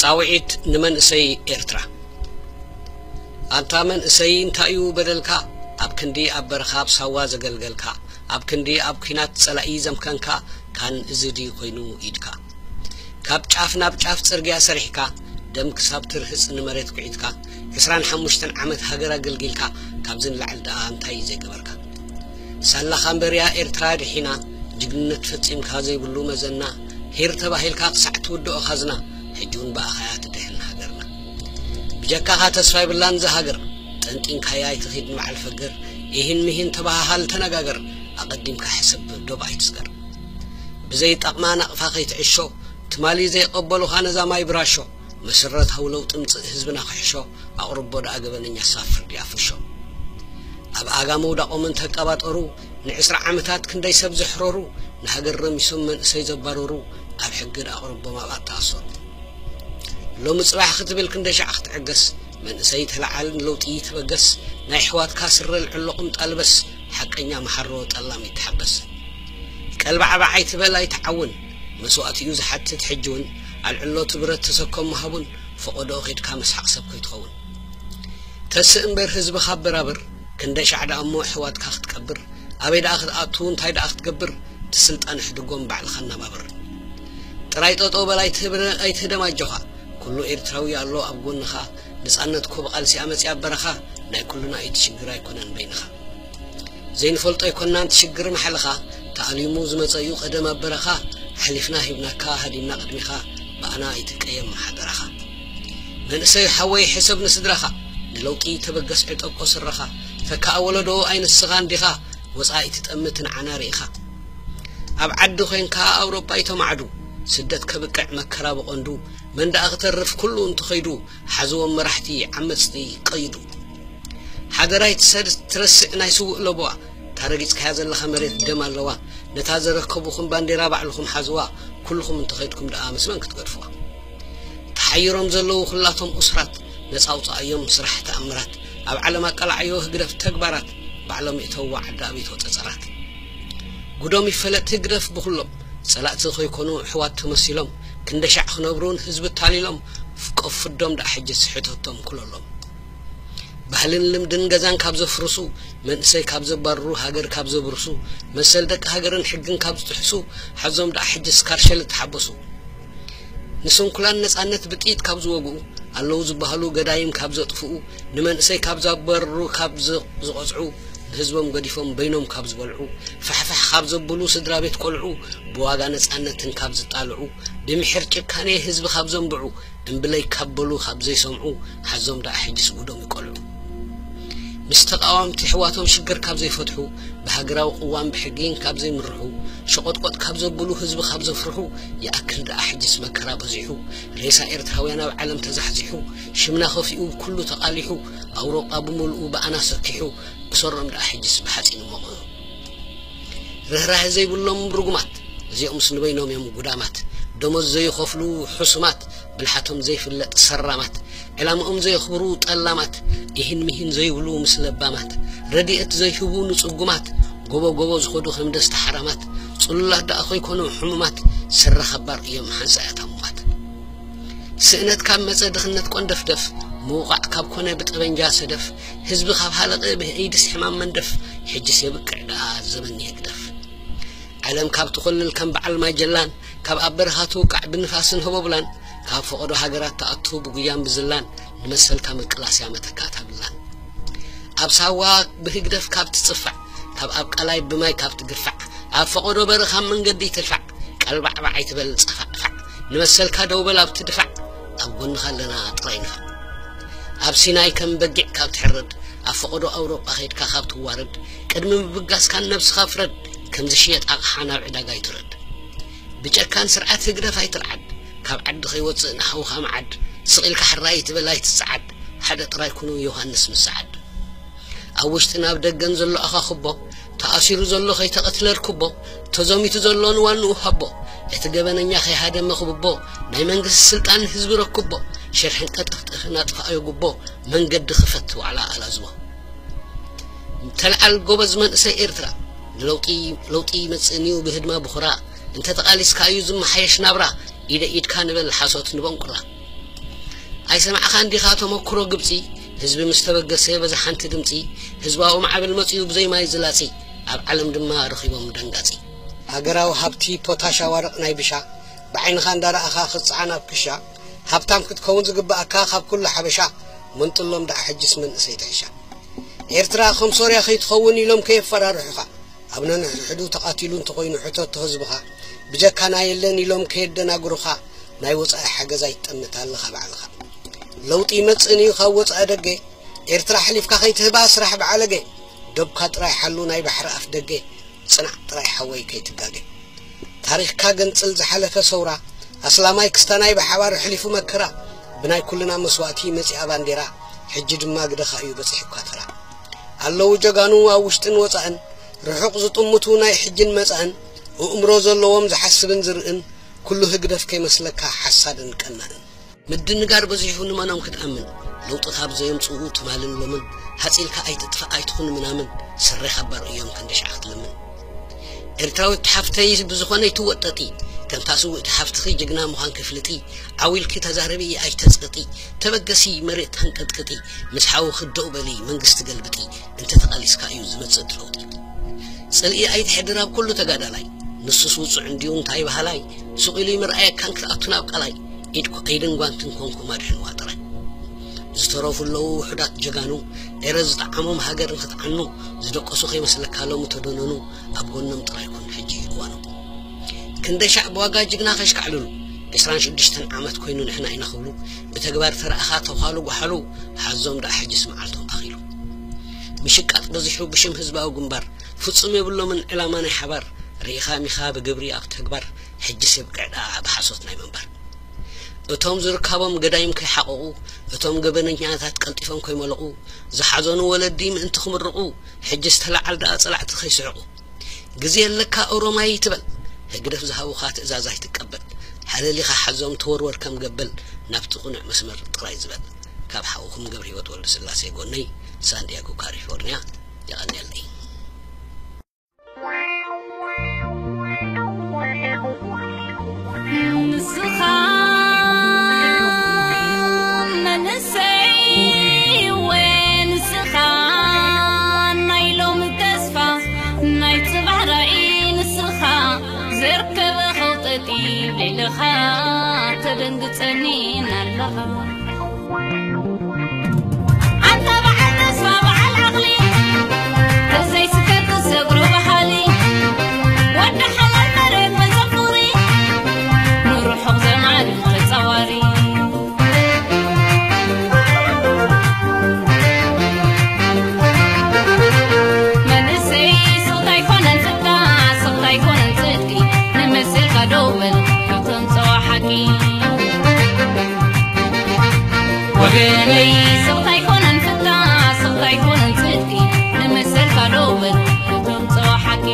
ጻውዒት ንመንእሰይ ኤርትራ። ኣንታ መንእሰይ፣ እንታይ እዩ በደልካ? ኣብ ክንዲ ኣብ በረኻ ኣብ ሳዋ ዘገልገልካ፣ ኣብ ክንዲ ኣብ ኲናት ጸላኢ ዘምከንካ፣ ካን እዚ ድዩ ኮይኑ ኢድካ? ካብ ጫፍ ናብ ጫፍ ጽርግያ ሰሪሕካ፣ ደም ክሳብ ትርህጽ ንመሬት ኲዒትካ፣ ዕስራን ሓሙሽተን ዓመት ሃገር ኣገልጊልካ፣ ካብዚ ንላዕሊ ደኣ እንታይ እዩ ዘይገበርካ? ሳላኻ እምበርያ ኤርትራ ድሒና፣ ጅግንነት ፈጺምካ ዘይብሉ መዘና፣ ሄር ተባሂልካ ክሳዕ ትውድኦ ካዝና፣ ሕጂ እውን ብኣኻያ ትድሕን ሃገርና። ብጀካኻ ተስፋ ይብላን እዛ ሃገር፣ ጠንጢንካያ ኣይትኺድ ንበዓል ፈገር፣ ኢሂን ምሂን ተበሃሃል ተነጋገር፣ ኣቐዲምካ ሕሰብ ዶብ ኣይትስገር። ብዘይጠቕማ ናቕፋ ከይትዕሾ፣ ትማሊ ዘይቐበሉኻ ነዛ ማይ ብራሾ፣ መሰረታዊ ለውጢ ምጽእ ህዝብና ክሕሾ፣ ኣቕርቦ ደኣ ገበነኛ ሳብ ፍርዲ ኣፍርሾ። ኣብ ኣጋ ምውዳቖም እንተቀባጠሩ፣ ንዕስራ ዓመታት ክንደይ ሰብ ዘሕረሩ፣ ንሃገር ረሚሶም መንእሰይ ዘባረሩ፣ ኣብ ሕጊ ደኣ ኣቕርቦም ኣብኣ ተኣሰሩ። ሎሚ ጽባሕ ክትብል ክንደይ ሻዕ ክትዕገስ፣ መንእሰይ ተለዓል ንለውጢ ተበገስ፣ ናይ ኣሕዋትካ ስረ ልዕሎ ቁምጣ ልበስ፣ ሓቀኛ መሓሮ ጠላም ይተሓበስ። ቀልባዕባዕ ኣይትበል ኣይትዓውን፣ መስዋእቲ እዩ ዝሓትት ሕጂ እውን፣ ኣልዕሎ እቲ ብረት ተሰከም ምሃቡን፣ ፈቐዶ ኸይድካ መስሓቕ ሰብ ከይትኸውን። ተስእ እምበር ህዝብኻ ኣበራብር፣ ክንደይ ሻዕ ደኣ እሞ ኣሕዋትካ ክትቀብር፣ ኣበይ ደኣ ክትኣቱ እንታይ ደኣ ክትገብር፣ እቲ ስልጣን ሕድጎም ባዕልኻ ኣነባብር። ጥራይ ጠጠው በል ኣይትህብረ-፣ ኣይትህደም ኣጆኻ፣ ኩሉ ኤርትራዊ ኣሎ ኣብ ጎንኻ፣ ነጻነት እኮ ብቓልሲ ኣመጺኣ በረኻ፣ ናይ ኩልና እዩ እቲ ሽግር ኣይኮነን በይንኻ። ዘይንፈልጦ ኣይኮናን እቲ ሽግር ማሕልኻ፣ ተኣሊሙ ዝመጸ እዩ ቀደም ኣብ በረኻ፣ ኣሕሊፍና ሂብናካ ሃዲምና ቅድሚኻ፣ ብኣና ኣይትቀየም ሓደራኻ። መንእሰይ ሓወይ ሕሰብ ንስድራኻ፣ ንለውጢ ተበገስ ዕጠቆ ስረኻ፣ ተካኣ ወለዶ ኣይንስኻ እንዲኻ፣ ወጻኢ ትጠምት ንዓና ርኢኻ። ኣብ ዓዲ ኮይንካ ኣውሮጳ ይተማዕዱ፣ ስደት ከብቅዕ መከራ ብቐንዱ፣ መን ደኣ ክተርፍ ኩሉ እንተኸይዱ፣ ሓዝዎም መራሕቲ ዓመጽቲ ቀይዱ። ሓደራይ ትሰድ-፣ ትረስዕ ናይ ስውእ ለበዋ፣ እታ ረጊጽካያ ዘለኻ መሬት ደም ኣለዋ፣ ነታ ዘረከቡኹም ባንዴራ ባዕልኹም ሓዝዋ፣ ኩልኹም እንተኸይድኩም ደኣ ምስ መን ክትገድፍዋ? ተሓይሮም ዘለዉ ኩላቶም እሱራት፣ ነጻ ኣውጽኣዮም ስራሕ ተኣምራት፣ ኣብ ዓለም ኣቃላዓዮ ህግደፍ ተግባራት፣ ባዕሎም ይእተውዋ ዓዲ ኣቤት ወጸጸራት። ጉዶም ይፈለጥ ህግደፍ ብኹሎም፣ ጸላእቲ ከይኮኑ ኣሕዋት ተመሲሎም፣ ክንደሻዕ ክነብሩ ንህዝቢ ታሊሎም፣ ፍቆ ፍዶም ደኣ ሕጂ ስሕተቶም ኩለሎም። ባህልን ልምድን ገዛን ካብ ዘፍርሱ፣ መንእሰይ ካብ ዘባርሩ፣ ሃገር ካብ ዘብርሱ፣ መሰል ደቂ ሃገርን ሕግን ካብ ዝጥሕሱ፣ ሓዞም ደኣ ሕጂ ስካርሸል ተሓበሱ። ንስንኩላን ነጻነት ብጥይት ካብ ዝወግኡ፣ ኣለዉ ዝበሃሉ ገዳይም ካብ ዘጥፍኡ፣ ንመንእሰይ ካብ ዘባርሩ፣ ካብ ዝ-፣ ዝቐጽዑ፣ ንህዝቦም ገዲፎም በይኖም ካብ ዝበልዑ፣ ፋሕፋሕ ካብ ዘብሉ ስድራ ቤት ቆልዑ፣ ብዋጋ ነጻነትን ካብ ዝጣልዑ፣ ብምሒር ጭካኔ ህዝቢ ካብ ዘንብዑ፣ እምብለይ ካብ በሉ ካብ ዘይሰምዑ፣ ሓዞም ደኣ ሕጂስ ጉዶም ይቆልዑ። ምስ ተቃዋምቲ ኣሕዋቶም ሽግር ካብ ዘይፈትሑ፣ ብሃገራዊ ቅዋም ብሕጊን ካብ ዘይምርሑ፣ ሸቆጥቆጥ ካብ ዘብሉ ህዝቢ ካብ ዘፍርሑ፣ ይኣክል ደኣ ሕጂስ መከራ በዚሑ፣ ሬሳ ኤርትራውያን ኣብ ዓለም ተዛሕዚሑ፣ ሽምና ከፊኡ ኩሉ ተቃሊሑ፣ ኣውሮጳ ብምልኡ ብኣና ሰኪሑ፣ ብሰሮም ደኣ ሕጂስ ብሓጺን ሞቕሑ። ርህራሄ ዘይብሎም ርጉማት፣ እዚኦምስ ንበይኖም እዮም ጉዳማት። ደሞዝ ዘይኸፍሉ ሕሱማት፣ ብልሓቶም ዘይፍለጥ ሰራማት፣ ዕላምኦም ዘየኽብሩ ጠላማት፣ ኢሂን ሚሂን ዘይብሉ ምስ ለባማት፣ ረድኤት ዘይህቡ ንጽጉማት፣ ጎቦ ጎቦ ዝኸዱ ከም ደስታ ሓራማት፣ ጽሉላት ደኣ ከይኮኑ ሕሙማት፣ ስረ ኸባር እዮም ሓንሳእ እያ ታሙማት። ስእነት ካብ መጸ ድኽነት ቆንደፍደፍ፣ ምውቓዕ ካብ ኮነ ብጠበንጃ ሰደፍ፣ ህዝቢ ካብ ሃለቐ ብኤይድስ ሕማም መንደፍ፣ ሕጅስ የብቅዕ ደኣ ዘበን ይህግደፍ። ዓለም ካብ ትኾልል ከም በዓል ማጀላን፣ ካብ ኣብ በረኻ ትውቃዕ ብንፋስን ህቦብላን፣ ካብ ፈቐዶ ሃገራት ትኣቱ ብጉያን ብዝላን፣ ንመሰልካ ምቅላስ እያ መተካእታ ብላን። ኣብ ሳዋ ብህግደፍ ካብ ትጽፋዕ፣ ካብ ኣብ ቀላይ ብማይ ካብ ትግፋዕ፣ ኣብ ፈቐዶ በረኻ መንገዲ ትልፋዕ፣ ቀልባዕባዕ ኣይትበል ጸፋዕፋዕ፣ ንመሰልካ ደው በል ኣብቲ ድፋዕ፣ ኣብ ጎንኻ ኣለና ጥራይ ንፋዕ። ኣብ ሲናይ ከም በጊዕ ካብ ትሕረድ፣ ኣብ ፈቐዶ ኣውሮጳ ኸይድካ ካብ ትዋረድ፣ ቅድሚ ምብጋስካን ነብስኻ ፍረድ፣ ከም ዝሽየጥ ኣቕሓ ናብ ዕዳጋ ኣይትውረድ። ብጨካን ስርዓት ህግደፍ ኣይትርዓድ፣ ካብ ዓዲ ኸይወጽእ ንሓውኻ መዓድ፣ ስቕ ኢልካ ሕራይ ኣይትበል ኣይትጸዓድ፣ ሓደ ጥራይ ኩኑ ዮሃንስ ምስ ሰዓድ። ኣብ ውሽጥን ኣብ ደገን ዘሎ ኣኻኽቦ፣ ተኣሲሩ ዘሎ ከይተቐትለ ርክቦ፣ ተዘሚቱ ዘሎ ንዋንኡ ሃቦ፣ እቲ ገበነኛ ከይሃደመ ክብቦ፣ ናይ መንግስቲ ስልጣን ንህዝቢ ረክቦ፣ ሽርሕን ቀጠፍጠፍን ኣጥፍኣዮ ጉቦ፣ መንገዲ ክፈት ዋዕላ ኣላዝቦ። ተልዓል ጎበዝ መንእሰይ ኤርትራ፣ ንለውጢ ለውጢ ይመጽእን እዩ ብህድማ ብኹራ፣ እንተ ተቓሊስካ እዩ ዝመሓየሽ ናብራ፣ ኢደ ኢድካ ንበል ሓሶት ንበንቁራ። ኣይሰማዕኻን ዲኻ ተመክሮ ግብጺ? ህዝቢ ምስ ተበገሰ በዛ ሓንቲ ድምጺ፣ ህዝባዊ ማዕበል መጺኡ ብዘይ ማይ ዝላጺ፣ ኣብ ዓለም ድማ ረኺቦም ደንጋጺ። ሃገራዊ ሃብቲ ፖታሽ ኣዋርቕ ናይ ብሻ፣ ብዓይንኻ እንዳረኣኻ ክትጽዓን ኣብ ክሻ፣ ሃብታም ክትከውን ዝግብኣካ ካብ ኩሉ ሓበሻ፣ መንጥሎም ደኣ ሕጅስ መንእሰይ ትሕሻ። ኤርትራ ከም ሶርያ ከይትኸውን ኢሎም ከየፈራርሑኻ፣ ኣብ ነንሕድሕዱ ተቓቲሉ እንተኾይኑ ሕተቶ ህዝብኻ፣ ብጀካና የለን ኢሎም ከየደናግሩኻ፣ ናይ ወጻኢ ሓገዝ ኣይትጠምት ኣለኻ ባዕልኻ። ለውጢ ይመጽእን እዩ ካብ ወጻኢ ደገ፣ ኤርትራ ኣሕሊፍካ ከይትህባ ስራሕ ብዓለገ፣ ዶብካ ጥራይ ሓሉ ናይ ባሕሪ ኣፍ ደገ፣ ጽናዕ ጥራይ ሓወይ ከይትጋገ። ታሪኽካ ገንጽል ዝሓለፈ ሰውራ፣ ኣስላማይ ክስታናይ ብሓባር ኣሕሊፉ መከራ፣ ብናይ ኩልና መስዋእቲ መጺኣ ባንዴራ፣ ሕጂ ድማ ግደኻ እዩ በጺሑካ ተራ። ኣለዉ ጀጋኑ ኣብ ውሽጥን ወጻእን፣ ርሑቕ ዝጥምቱ ናይ ሕጅን መጻእን፣ ኣእምሮ ዘለዎም ዝሓስብን ዝርእን፣ ኩሉ ህግደፍ ከይመስለካ ሓሳድን ቀናእን። ምድንጋር በዚሑ ንመኖም ክትኣምን፣ ለውጢ ካብ ዘየምጽኡ ትማልን ሎምን፣ ሃጺልካ ኣይትጥፋእ ኣይትኹን ምናምን፣ ስረ ካብ ባር እዮም ክንደሻዕ ክትልምን። ኤርትራዊት ሓፍተይ ብዝኾነ ኣይትወጠጢ፣ ከምታ ስውእቲ ሓፍትኺ ጅግና ምዃን ክፍልጢ፣ ዓው ኢልኪ ተዛረቢ ኣይተጽቅጢ፣ ተበገሲ መሬት ተንቀጥቅጢ፣ ምስ ሓውኺ ደው በሊ መንግስቲ ገልብጢ፣ እንተተቓሊስካ እዩ ዝመጽእ እቲ ለውጢ። ጽልኢ ኣይትሕድር ኣብ ኩሉ ተጋዳላይ፣ ንሱስ ውጹዕ እንድዩ እንታይ በሃላይ፣ ሱቕ ኢሉ ይምርኣየካን ክትኣቱ ናብ ቃላይ፣ ኢድኩ ኢድን ጓንትን ኮንኩም ኣድሕንዋ ጥራይ። ዝተረፉ ኣለዉ ውሑዳት ጀጋኑ፣ ኤረ ዝጠዓሞም ሃገር ንኽትዓኑ፣ ዝደቀሱ ከይመስለካ ሎሚ ተደነኑ፣ ኣብ ጎኖም ጥራይ ኩን ሕጂ እዩ እዋኑ። ክንደይ ሻዕ ብዋጋ ጅግና ከሽካዕልሉ፣ ዕስራን ሽዱሽተን ዓመት ኮይኑ ንሕና ኢና ክብሉ፣ ብተግባር ተረኣኻ ተዃሉ ጓሓሉ፣ ሓዞም ደኣ ሕጅስ መዓልቶም ኣኺሉ። ምሽቃጥ በዚሑ ብሽም ህዝባዊ ግንባር፣ ፍጹም የብሎምን ዕላማ ናይ ሓባር፣ ርኢኻ ሚኻ ብግብሪ ኣብ ተግባር፣ ሕጅስ የብቅዕ ደኣ ብሓሶት ናይ ምንባር። እቶም ዝርካቦም ገዳይም ከይሓቐቑ፣ እቶም ገበነኛታት ቀልጢፎም ከይመለቑ፣ ዝሓዘኑ ወለዲ ምእንቲ ክምርቑ፣ ሕጅስ ተለዓል ደኣ ጸላዕቲ ከይስሕቑ። ግዜ ኣለካ ኦሮማይ ትበል፣ ህግደፍ ዝሃቡኻ ትእዛዝ ኣይትቀበል። ሓለሊኻ ሓዞም ተወርወር ከም ገበል፣ ናብቲ ቅኑዕ መስመር ጥራይ ዝበል። ካብ ሓውኹም ገብረህይወት ወልደስላሴ ጎነይ፣ ሳንዲያጎ ካሊፎርንያ። የቐንየለይ። ንስኻ መንእሰይ ወይ ንስኻ ናይ ሎሚ ተስፋ ናይ ጽባሕ ራእይ ንስኻ ዘርከበ ኸውጠጢ ሌልኻ ተደንግጸኒ እናለኻ ኣንታ በዓል ተስፋ በዓል ዓቕሊ ተዘይስከር ክሰግሮ በሃሊ ወዲ ሓላል መሬት መዘኩሪ ንርሑቕ ዘማሪ ተጻዋሪ መንእሰይ ስቕታ ኣይኮነን ፍታ ስቕታ ኣይኮነን ጽድቂ ንመሰልካ ደው በል እቶም ጸዋ ሓቂ ወገነይ ስቕታ ኣይኮነን ፍታ ስቕታ ኣይኮነን ጽድቂ ንመሰልካ ደው በል እቶም ጸዋ ሓቂ